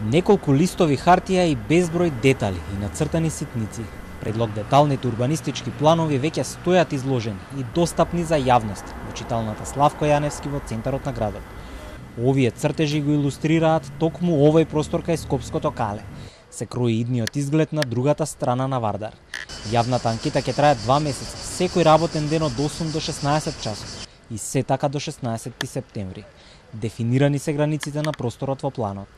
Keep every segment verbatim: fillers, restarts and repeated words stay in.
Неколку листови хартија и безброј детали и нацртани ситници. Предлог деталните урбанистички планови веќе стојат изложени и достапни за јавност во читалната Славко Јаневски во центарот на градот. Овие цртежи го илустрираат токму овој простор кај Скопското кале. Се крои идниот изглед на другата страна на Вардар. Јавната анкета ќе трае два месеца, секој работен ден од осум до шеснаесет часот и се така до шеснаесетти септември. Дефинирани се границите на просторот во планот.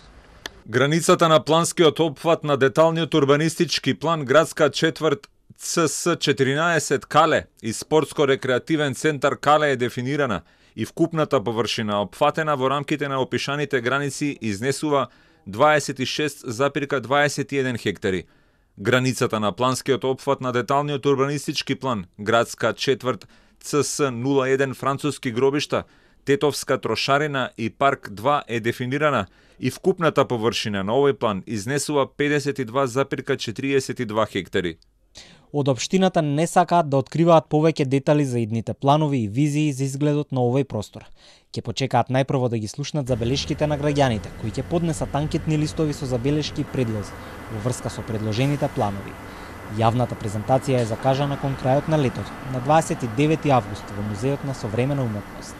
Границата на планскиот опфат на деталниот урбанистички план градска четврт Ц С четиринаесет Кале и спортско-рекреативен центар Кале е дефинирана и вкупната површина опфатена во рамките на опишаните граници изнесува дваесет и шест запирка дваесет и еден хектари. Границата на планскиот опфат на деталниот урбанистички план градска четврт Ц С нула еден Француски гробишта, Тетовска трошарина и парк два е дефинирана и вкупната површина на овој план изнесува педесет и два запирка четириесет и два хектари. Од општината не сакаат да откриваат повеќе детали за идните планови и визии за изгледот на овој простор. Ќе почекаат најпрво да ги слушнат забелешките на граѓаните, кои ќе поднесат анкетни листови со забелешки и предлози во врска со предложените планови. Јавната презентација е закажана кон крајот на летото, на дваесет и девети август во Музеот на современа уметност.